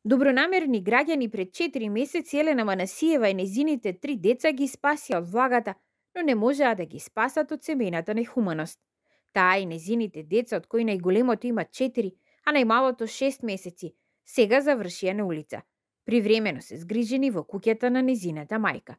Добронамерни граѓани пред 4 месеци Елена Манасиева и незините 3 деца ги спасија од влагата, но не можеа да ги спасат од семејната нехуманост. Таа и незините деца, од кои најголемото има 4, а најмалото 6 месеци, сега завршија на улица. Привремено се згрижени во куќата на незината мајка.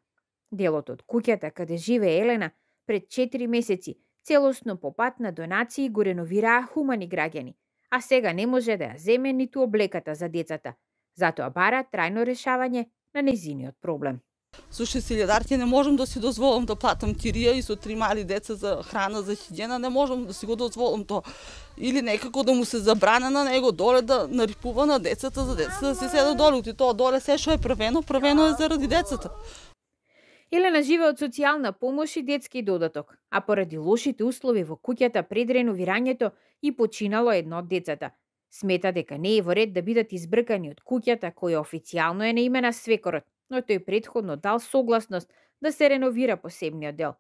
Делот од куќата каде живее Елена пред 4 месеци целосно по пат на донации го реновираа хумани граѓани, а сега не може да ја земе ниту облеката за децата. Затоа бара трајно решавање на незиниот проблем. Со 6.000 не можам да си дозволам да платам кирија и со 3 мали деца за храна, за хигиена, не можам да си го дозволам тоа. Или некако да му се забране на него доле да нарипува на децата, за децата да се седат доле. И тоа доле се што е правено е заради децата. Елена живее од социјална помош и детски додаток, а поради лошите услови во куќата пред реновирањето и починало едно од децата. Смета дека не е во ред да бидат избркани од куќата која официјално е на име на свекорот, но тој претходно дал согласност да се реновира посебниот дел.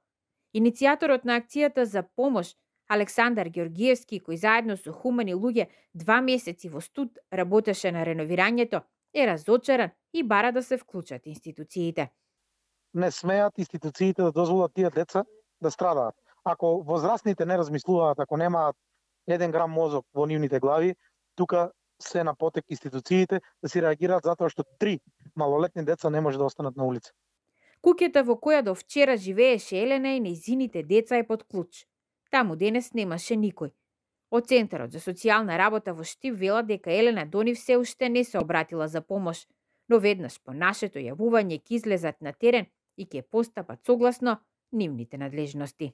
Иницијаторот на акцијата за помош, Александар Георгиевски, кој заедно со хумани луѓе 2 месеци во студ работеше на реновирањето, е разочаран и бара да се вклучат институциите. Не смеат институциите да дозволат тие деца да страдаат. Ако возрастните не размислуваат, ако немаат 1 грам мозок во нивните глави, тука се на потек институциите да си реагираат затоа што 3 малолетни деца не може да останат на улица. Куќата во која до вчера живееше Елена и нејзините деца е под клуч. Таму денес немаше никој. Од Центарот за социјална работа во Штип велат дека Елена до нив се уште не се обратила за помош, но веднаш по нашето јавување ќе излезат на терен и ќе постапат согласно нивните надлежности.